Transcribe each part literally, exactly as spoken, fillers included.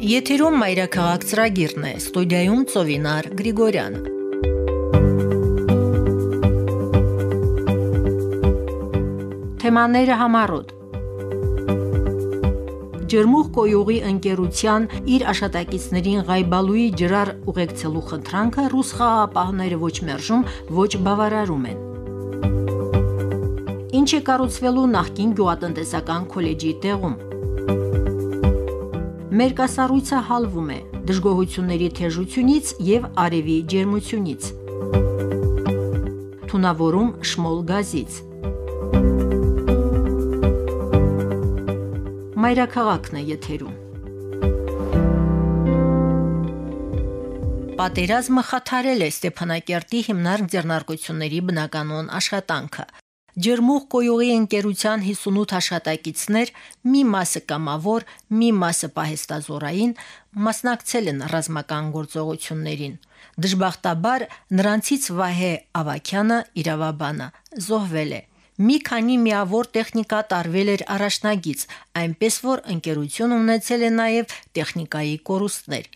Եթերում մայրաքաղաք ծրագիրն է, ստուդիայում Ծովինար Գրիգորյանը։ Թեմաները համառոտ։ Ջերմուղ կոյուղի ընկերության իր աշատակիցներին Ղայբալուի ջրար ուղեկցելու խնդրանքը ռուս խաղաղապահները ոչ մերժում, ոչ բավարարում են։ Ինչ է կառուցվելու նախկին գյուղատնտեսական քոլեջի տեղում։ Մերկասառույցը հալվում է դժգոհությունների թեժությունից և արևի ջերմությունից։ Թունավորում Շմոլ գազից։ Մայրաքաղաքն է եթերում։ Պատերազմը խաթարել է Ստեփանակերտի հիմնարկ ձեռնարկությունների բնականոն աշխատանքը։ Ջերմուղ կոյուղի ընկերության հիսունութ աշխատակիցներ, մի մասը կամավոր, մի մասը պահեստազորային, մասնակցել են ռազմական գործողություններին։ Դժբախտաբար նրանցից Վահե Ավագյանը, իրավաբանը, զոհվել է։ Մի քանի միավոր տեխնիկա տարվել էր առաջնագիծ, այնպես որ ընկերությունը ունեցել է նաև տեխնիկայի կորուստներ։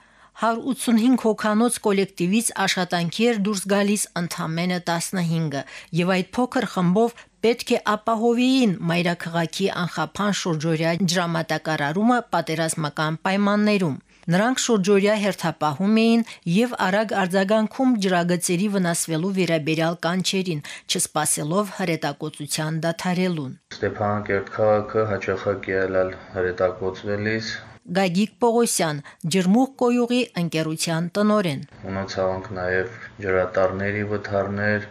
հարյուր ութսունհինգ հոգանոց կոլեկտիվից աշխատանքի էր դուրս գալիս ընդամենը տասնհինգը, եւ այդ փոքր խմբով պետք է ապահովեին մայրաքաղաքի անխափան շուրջօրյա ջրամատակարարումը պատերազմական պայմաններում։ Նրանք շուրջօրյա հերթապահում էին եւ արագ արձագանքում ջրագծերի վնասվելու վերաբերյալ կանչերին, չսպասելով հրետակոծության դադարելուն։ Ստեփանակերտ քաղաքը հաճախակի ելալ հրետակոծվելիս Գագիկ Պողոսյան, Ջերմուղ կոյուղի ընկերության տնօրեն։ Ունեցանք նաև ջրատարների վթարներ,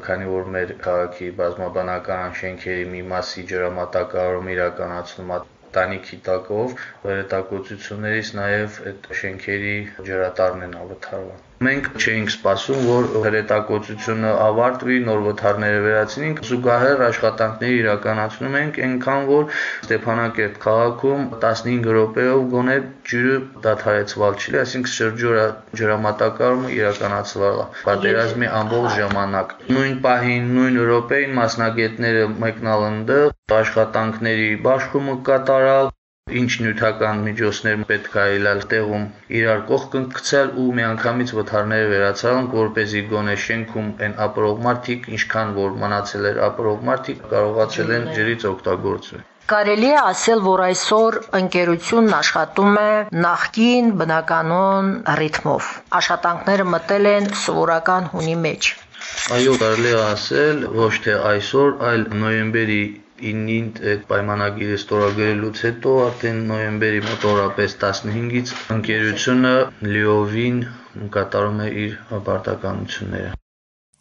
քանի որ մեր քաղաքի բազմաբանական շենքերի մի մասի ջրամատակարարումը իրականացնում է տանիքի տակով, հրետակոծություններից նաև այդ շենքերի ջրատարն են ավթարվում։ Մենք չէինք սպասում, որ հրետակոծությունը ավարտվի, նոր վթարները վերացնենք, զուգահեռ աշխատանքներ իրականացնում ենք, այնքան որ Ստեփանակերտ քաղաքում տասնհինգ րոպեով գոնե ջուրը դադարեցվել չի, այսինքն շրջօրյա ջրամատակարարումը իրականացվել է պատերազմի ամբողջ ժամանակ։ Նույն պահին, նույն րոպեին մասնագետները մեկնալ ընդդեմ, աշխատանքների բաշխումը կատարալ, ինչ նյութական միջոցներ պետք է իլալ տեղում իրար կողքն գցել ու միանգամից վթարները վերացան, որպեսզի գոնե շենքում այն ապրող մարդիկ, ինչքան որ մնացել էր ապրող մարդիկ, կարողացել են ջրից օգտագործվել։ Կարելի է ասել, որ այսօր ընկերությունն աշխատում է նախկին բնականոն ռիթմով։ Աշխատանքները մտել են սովորական հունի մեջ։ Այո, կարելի է ասել, ոչ թե այսօր, այլ նոյեմբերի ինին այդ պայմանագիրը ստորագրելուց հետո արդեն նոյեմբերի մոտավորապես տասնհինգից ընկերությունը լիովին կատարում է իր պարտականությունները։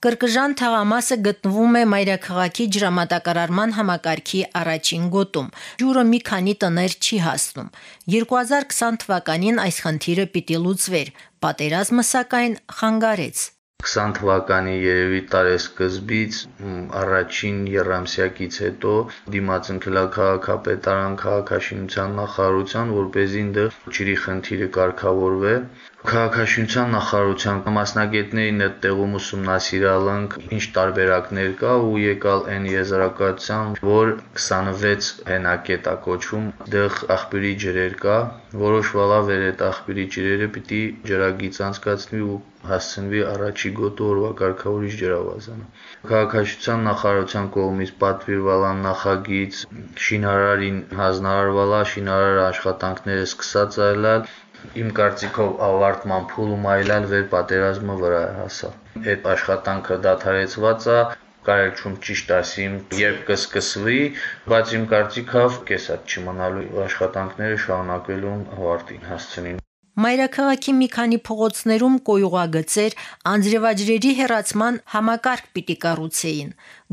Կրկժան թաղամասը գտնվում է մայրաքաղաքի ջրամատակարարման համակարգի առաջին գոտում։ Ջուրը մի քանի տներ չի հասնում։ երկու հազար քսան թվականին այս խնդիրը պիտի լուծվեր, պատերազմը սակայն խանգարեց։ քսան թվականի երևի տարեսկզբից առաջին եռամսյակից հետո դիմաց ընկել քաղաքապետարան քաղաքաշինության նախարարության, որպեսզի այնտեղ ջրի խնդիրը կարգավորվի։ Քաղաքաշինության նախարարության մասնագետներին այդ տեղում ուսումնասիրալ ենք, ինչ տարբերակներ կա ու եկալ այն եզրակացության, որ քսանվեց հենակետ է կոչվում, դեղ աղբյուրի ջրեր կա, որոշվել է վեր այդ աղբյուրի ջրերը պիտի ջրագիծ անցկացնվի ու հասցնվի առաջի գոտու օրվա կարգավորիչ ջրավազանը։ Քաղաքաշինության նախարարության կողմից պատվիրվել է նախագիծ, շինարարին հանձնարարվել է, շինարարը աշխատանքները սկսած այլալ, իմ կարծիքով ավարտման փուլում այլալ վեր պատերազմը վրա է հասավ։ Այդ աշխատանքը դադարեցված է, կարել չում ճիշտ ասիմ, երբ կսկսվի, բայց իմ կարծիքով կեսատ չմնալու աշխատանքները շարունակվելու ավարտին հասցնին։ Մայրաքաղաքի մի քանի փողոցներում կոյուղագծեր, անձրևաջրերի հեռացման համակարգ պիտի կառուցեին,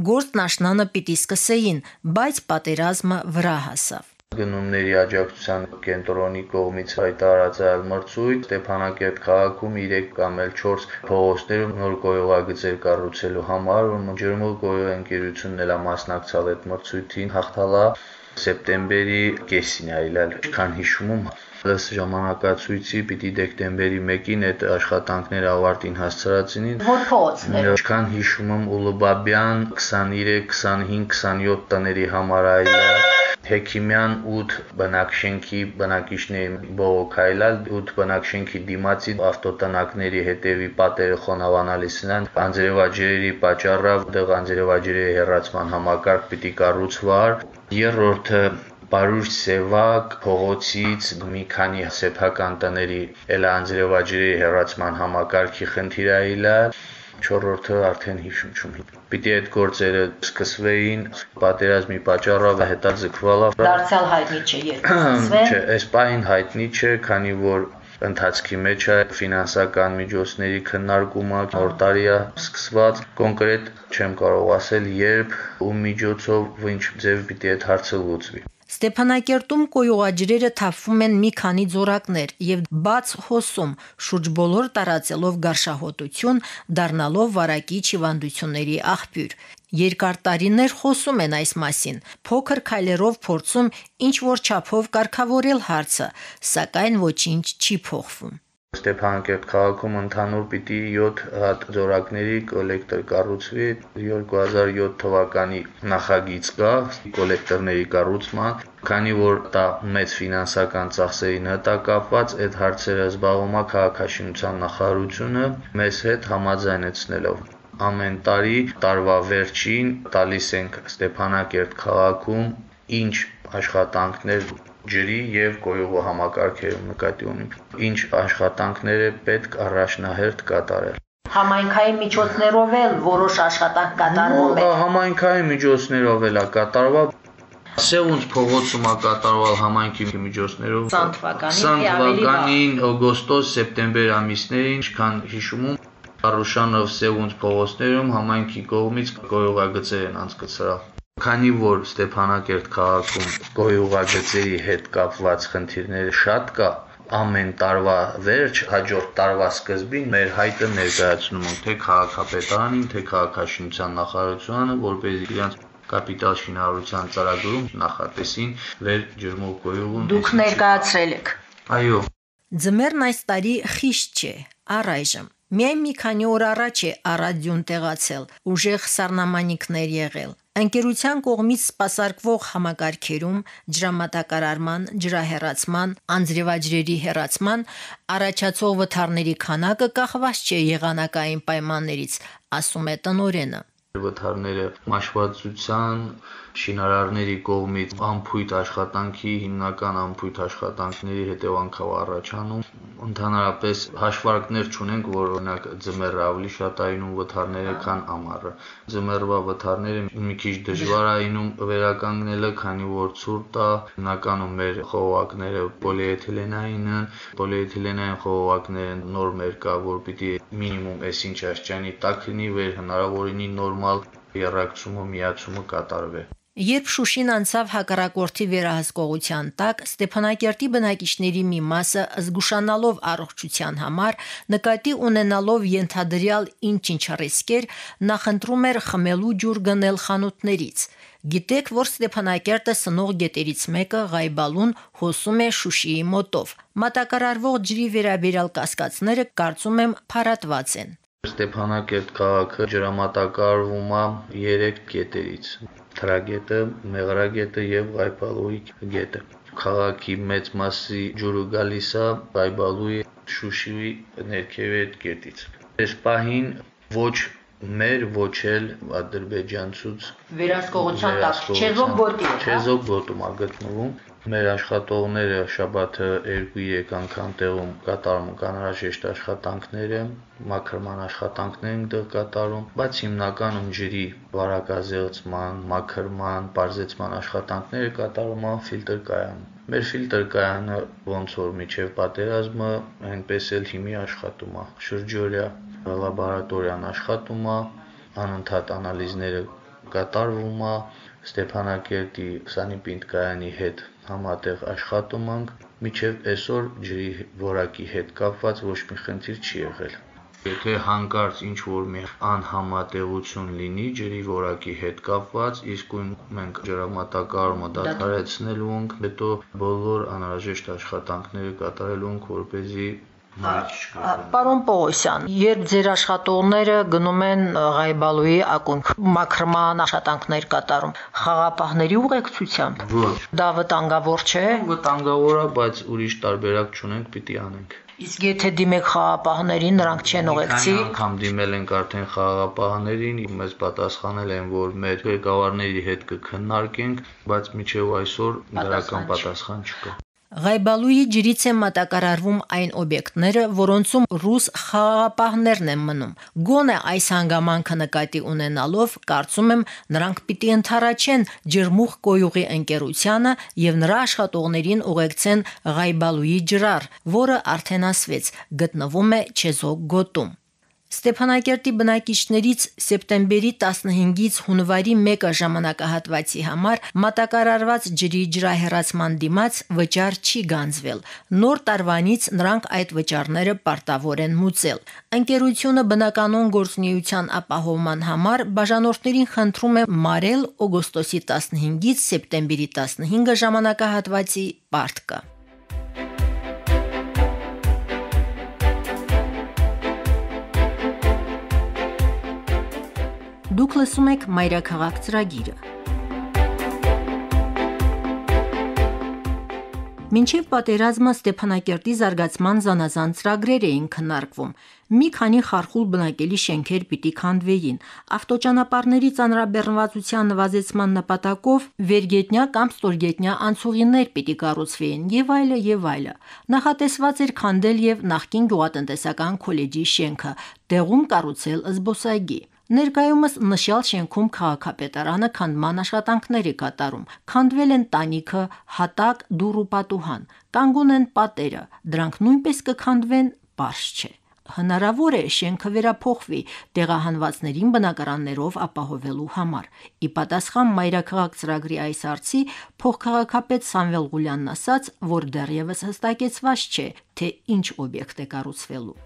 գործն աշնանը պիտի սկսեին, բայց պատերազմը վրա հասավ։ Գնումների աջակցության կենտրոնի կողմից հայտարարած այլ մրցույթ Ստեփանակերտ քաղաքում երեք կամ էլ չորս փողոցներում նոր կոյուղագծեր կառուցելու համար, Ջերմուղ կոյուղի ընկերությունն էլ մասնակցել այդ մրցույթին, հաղթալ է սեպտեմբերի կեսին այլալ, քան հիշում Ըստ ժամանակացույցի պիտի դեկտեմբերի մեկին այդ աշխատանքները ավարտին հասցրածին։ Որ փողոցներ։ Ինչքան հիշում եմ Ուլուբաբյան քսաներեք, քսանհինգ, քսանյոթ տների համար այլ Հեքիմյան ութ բնակշենքի բնակիչների բողոքայլալ ութ բնակշենքի դիմացի ավտոտնակների հետևի պատերը խոնավանալիսն են անձրևաջրերի պատճառով դեղ անձրևաջրերի հեռացման համակարգ պիտի կառուցվար երրորդը Բարույր Սևակ փողոցից մի քանի սեփական տների էլ անձրևաջրերի հեռացման համակարգի խնդիրայիլա չորրորդը արդեն հիշում չում պիտի այդ գործերը սկսվեին պատերազմի պատճառով հետաձգվալա դարձյալ հայտնի չէ երբ սկսվեն չէ այս պահին հայտնի չէ քանի որ ընթացքի մեջ է ֆինանսական միջոցների քննարկումը նոր տարի է սկսված կոնկրետ չեմ կարող ասել երբ ու միջոցով ինչ ձև պիտի այդ հարցը լուծվի Ստեփանակերտում կոյուղաջրերը թափվում են մի քանի ձորակներ եւ բաց հոսում շուրջ բոլոր տարածելով գարշահոտություն դառնալով վարակիչ հիվանդությունների աղբյուր Երկար տարիներ խոսում են այս մասին փոքր քայլերով փորձում ինչ որ չափով կարգավորել հարցը սակայն ոչինչ չի փոխվում Ստեփանակերտ քաղաքում ընդհանուր պիտի յոթ հատ ձորակների կոլեկտոր կառուցվի երկու հազար յոթ թվականի նախագիծ կա կոլեկտորների կառուցման քանի որ դա մեծ ֆինանսական ծախսերին հետ է կապված այդ հարցերը զբաղվում է քաղաքաշինության նախարարությունը մեզ հետ համաձայնեցնելով ամեն տարի տարվա վերջին տալիս ենք Ստեփանակերտ քաղաքում ինչ աշխատանքներ ջրի եւ կոյուղու համակարգերում նկատի ունի ինչ աշխատանքներ է պետք առաջնահերթ կատարել Համայնքային միջոցներով էլ որոշ աշխատանք կատարվում է Համայնքային միջոցներով էլ է կատարվում Սևունց փողոցում է կատարվել համայնքի միջոցներով Սանթվականին օգոստոս սեպտեմբեր ամիսներին ինչքան հիշում եմ Արուշանով Սևունց փողոցներում համայնքի կողմից կոյուղագծեր են անցկացրել Քանի որ Ստեփանակերտ քաղաքում կոյուղագծերի հետ կապված խնդիրները շատ կա ամեն տարվա վերջ հաջորդ տարվա սկզբին մեր հայտը ներկայացնում ենք թե քաղաքապետարանին թե քաղաքաշինության նախարարությանը որպեսզի իրենց կապիտալ շինարարության ծրագրում նախատեսին վեր ջրմուղ կոյուղում Դուք ներկայացրել եք Այո Ձմեռն այս տարի խիստ չէ առայժմ Միայն մի քանի օր առաջ է առադյուն տեղացել ուժեղ սառնամանիքներ եղել Ընկերության կողմից սպասարկվող համակարգերում ջրամատակարարման, ջրահեռացման, անձրևաջրերի հեռացման առաջացող վթարների քանակը կախված չէ եղանակային պայմաններից, ասում է տնօրենը Վթարները մաշվածության շինարարների կողմից ամփույթ աշխատանքի հիմնական ամփույթ աշխատանքների հետևանքով առաջանում ընդհանրապես հաշվարկներ չունենք որ օրինակ ձմեռը ավելի շատ այնում վթարները քան ամառը ձմեռվա վթարները մի քիչ դժվար այնում վերականգնելը քանի որ ցուրտ է հիմնականում մեր խողովակները պոլիէթիլենային են պոլիէթիլենային խողովակները նորմեր կա որ պիտի մինիմում այսինչ աստիճանի տակ լինի վեր հնարավորինի նորմալ երակցումը միացումը կատարվի Երբ Շուշին անցավ հակառակորդի վերահսկողության տակ, Ստեփանակերտի բնակիչների մի մասը զգուշանալով առողջության համար, նկատի ունենալով ենթադրյալ ինչ-ինչ ռիսկեր, նախընտրում էր խմելու ջուր գնել խանութներից։ Գիտեք, որ Ստեփանակերտը սնող գետերից մեկը Ղայբալուն հոսում է Շուշիի մոտով։ Մատակարարվող ջրի վերաբերյալ կասկածները կարծում եմ փարատված են։ Ստեփանակերտ քաղաքը ջրամատակարարվում է երեք գետերից Թրագետը, Մեղրագետը եւ Ղայբալուի գետը։ Քաղաքի մեծ մասի ջուրը գալիս է Ղայբալուի Շուշիի ներքևի այդ գետից։ Այս պահին ոչ մեր ոչ էլ ադրբեջանցուց վերահսկողության տակ Չեզոք գոտի է, Չեզոք գոտում է գտնվում։ Մեր աշխատողները շաբաթը երկու-երեք անգամ տեղում կատարում կանարաշեշտ աշխատանքները, մաքրման աշխատանքներ են դեռ կատարում, բայց հիմնականում ջրի վարակազերծման, մաքրման, պարզեցման աշխատանքները կատարում են ֆիլտր կայանում։ Մեր ֆիլտր կայանը ոնց որ միջև պատերազմը այնպես էլ հիմի աշխատում է, շրջօրյա լաբորատորիան աշխատում է, անընդհատ անալիզները կատարվում է, Ստեփանակերտի Սանիպինտ կայանի հետ համատեղ աշխատում ենք, մինչև այսօր ջրի որակի հետ կապված ոչ մի խնդիր չի եղել։ Եթե հանկարծ ինչ որ մի անհամատեղություն լինի ջրի որակի հետ կապված, իսկույն մենք ջրամատակարարումը դադարեցնելու ենք, հետո բոլոր անհրաժեշտ աշխատանքները կատարելու ենք, որպեսզի Պարոն Պողոսյան, երբ ձեր աշխատողները գնում են Ղայբալուի ակունք մաքրման աշխատանքներ կատարում, խաղապահների ուղեկցությամբ, ոչ, դա վտանգավոր չէ։ Վտանգավոր է, բայց ուրիշ տարբերակ չունենք, պիտի անենք։ Իսկ եթե դիմեք խաղապահներին, նրանք չեն ուղեկցի։ Անգամ դիմել ենք արդեն խաղապահներին, մեզ պատասխանել են, որ մեր ղեկավարների հետ կքննարկենք, բայց մինչև այսօր դրական պատասխան չկա։ Ղայբալուի ջրից են մատակարարվում այն օբյեկտները, որոնցում ռուս խաղապահներն են մնում։ Գոնե այս հանգամանքը նկատի ունենալով, կարծում եմ, նրանք պիտի ընդառաջեն ջրմուղ կոյուղի ընկերությանը եւ նրա աշխատողներին ուղեկցեն Ղայբալուի ջրառ, որը արդեն ասվեց, գտնվում է Չեզոկ գոտում։ Ստեփանակերտի բնակիչներից սեպտեմբերի տասնհինգից հունվարի մեկը ժամանակահատվածի համար մատակարարված ջրի ջրահեռացման դիմաց վճար չի գանձվել։ Նոր տարվանից նրանք այդ վճարները պարտավոր են մուծել։ Ընկերությունը բնականոն գործունեության ապահովման համար բաժանորդներին խնդրում է մարել օգոստոսի տասնհինգից սեպտեմբերի տասնհինգը ժամանակահատվածի պարտքը։ Դուք լսում եք Մայրաքաղաք ծրագիրը։ Մինչև պատերազմը Ստեփանակերտի զարգացման զանազան ծրագրեր էին քննարկվում։ Մի քանի խարխուլ բնակելի շենքեր պիտի քանդվեին, ավտոճանապարհների ծանրաբեռնվածության նվազեցման նպատակով վերգետնյա կամ ստորգետնյա անցուղիներ պիտի կառուցվեին եւ այլը եւ այլը։ Նախատեսված էր քանդել եւ նախկին գյուղատնտեսական քոլեջի շենքը, տեղում կառուցել զբոսայգի։ Ներկայումս նշյալ շենքում քաղաքապետարանը քանդման աշխատանքներ է կատարում։ Քանդվել են տանիքը, հատակ, դուռ ու պատուհան, կանգուն են պատերը, դրանք նույնպես կքանդվեն, պարզ չէ։ Հնարավոր է շենքը վերափոխվի տեղահանվածներին բնակարաններով ապահովելու համար։ Ի պատասխան Մայրաքաղաք ծրագրի այս հարցի փոխքաղաքապետ Սամվել Ղուլյանն ասաց, որ դեռևս հստակեցված չէ, թե ինչ օբյեկտ է կառուցվելու։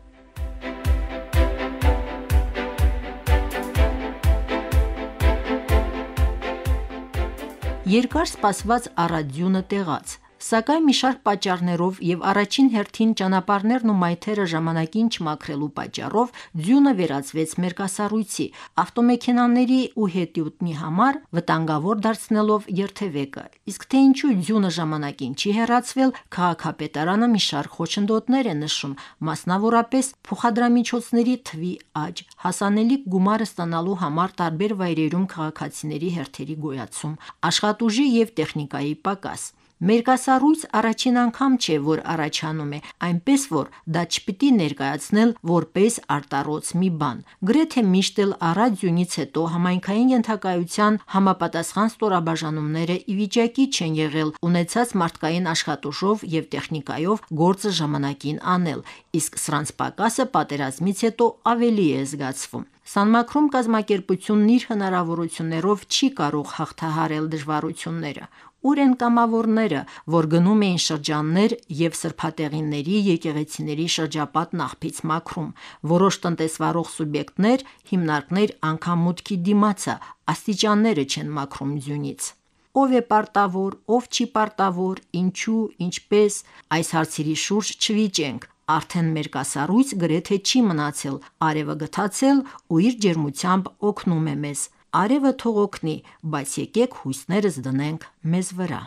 Երկար սպասված առաձյունը տեղաց, սակայն մի շարք պատճառներով եւ առաջին հերթին ճանապարհներն ու մայթերը ժամանակին չմաքրելու պատճառով ձյունը վերածվեց մերկասառույցի, ավտոմեքենաների ու հետիոտնի համար վտանգավոր դարձնելով երթևեկը։ Իսկ թե ինչու ձյունը ժամանակին չի հեռացվել, քաղաքապետարանը մի շարք խոչընդոտներ է նշում, մասնավորապես փոխադրամիջոցների թվի աճ, հասանելիք գումարը ստանալու համար տարբեր վայրերում քաղաքացիների հերթերի գոյացում, աշխատուժի եւ տեխնիկայի պակաս։ Մերկասառույց առաջին անգամ չէ, որ առաջանում է, այնպես որ դա չպիտի ներկայացնել որպես արտառոց մի բան։ Գրեթե միշտ էլ առանց ձյունից հետո համայնքային ենթակայության համապատասխան ստորաբաժանումները ի վիճակի չեն եղել ունեցած մարդկային աշխատուժով եւ տեխնիկայով գործը ժամանակին անել, իսկ սրանց պակասը պատերազմից հետո ավելի է զգացվում։ Սանմակրում կազմակերպությունն իր հնարավորություններով չի կարող հաղթահարել դժվարությունները։ Ուր են կամավորները, որ գնում էին շրջաններ եւ սրբատեղիների եկեղեցիների շրջապատ նախբից մաքրում։ Որոշ տնտեսվարող սուբյեկտներ, հիմնարկներ անգամ մուտքի դիմացը, աստիճանները չեն մաքրում ձյունից։ Ով է պարտավոր, ով չի պարտավոր, ինչու, ինչպես, այս հարցերի շուրջ չվիճենք։ Արդեն մերկասառույց գրեթե չի մնացել, արևը գթացել ու իր ջերմությամբ օգնում է մեզ։ Արևը թող օգնի, բայց եկեք հույսներս դնենք մեզ վրա։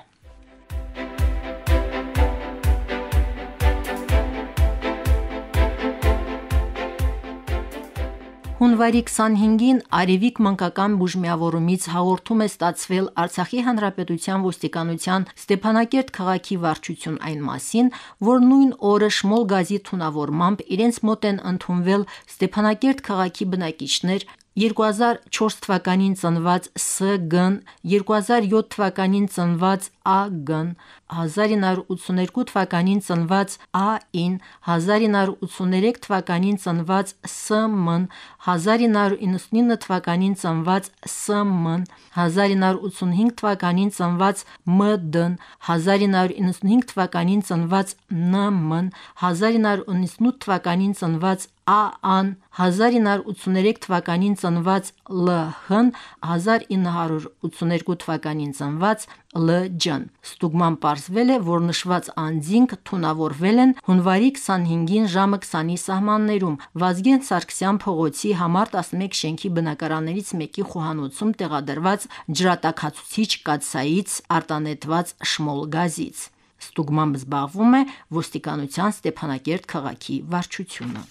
Հունվարի քսանհինգին Արևիկ մանկական բուժմիավորումից հաղորդում է ստացվել Արցախի Հանրապետության ոստիկանության Ստեփանակերտ քաղաքի վարչություն այն մասին, որ նույն օրը Շմոլ գազի թունավորմամբ իրենց մոտ են ընդունվել Ստեփանակերտ քաղաքի բնակիչներ, երկու հազար չորս թվականին ծնված Ս. Գ-ն, երկու հազար յոթ թվականին ծնված Ա. Գ-ն, հազար ինը հարյուր ութսուներկու թվականին ծնված Ա.-ին, հազար ինը հարյուր ութսուներեք թվականին ծնված Ս.Մ-ն, հազար ինը հարյուր իննսունինը թվականին ծնված Ս.Մ-ն, հազար ինը հարյուր ութսունհինգ թվականին ծնված Մ.Դ-ն, հազար ինը հարյուր իննսունհինգ թվականին ծնված Ն.Մ-ն, հազար ինը հարյուր իննսունութ թվականին ծնված Ա.Ան, հազար ինը հարյուր ութսուներեք թվականին ծնված Լ.Հ.-ն, հազար ինը հարյուր ութսուներկու թվականին ծնված Լ.Ջ.-ն։ Ստուգման պարզվել է, որ նշված անձինք թունավորվել են հունվարի քսանհինգին ժամը քսանի սահմաններում Վազգեն Սարգսյան փողոցի համար տասնմեկ շենքի բնակարաններից մեկի խոհանոցում տեղադրված ջրատաքացուցիչ կաթսայից արտանետված շմոլ գազից։ Ստուգմամբ զբաղվում է ոստիկանության Ստեփանակերտ քաղաքի վարչությունը։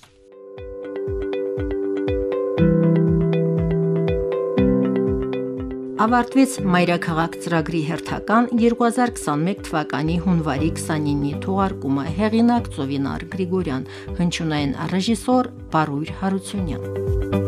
Ավարտվեց Մայրաքաղաք ծրագրի հերթական երկու հազար քսանմեկ թվականի հունվարի քսանինի թողարկումը։ Հեղինակ Ծովինար Գրիգորյան, հնչյունային ռեժիսոր Պարույր Հարությունյան։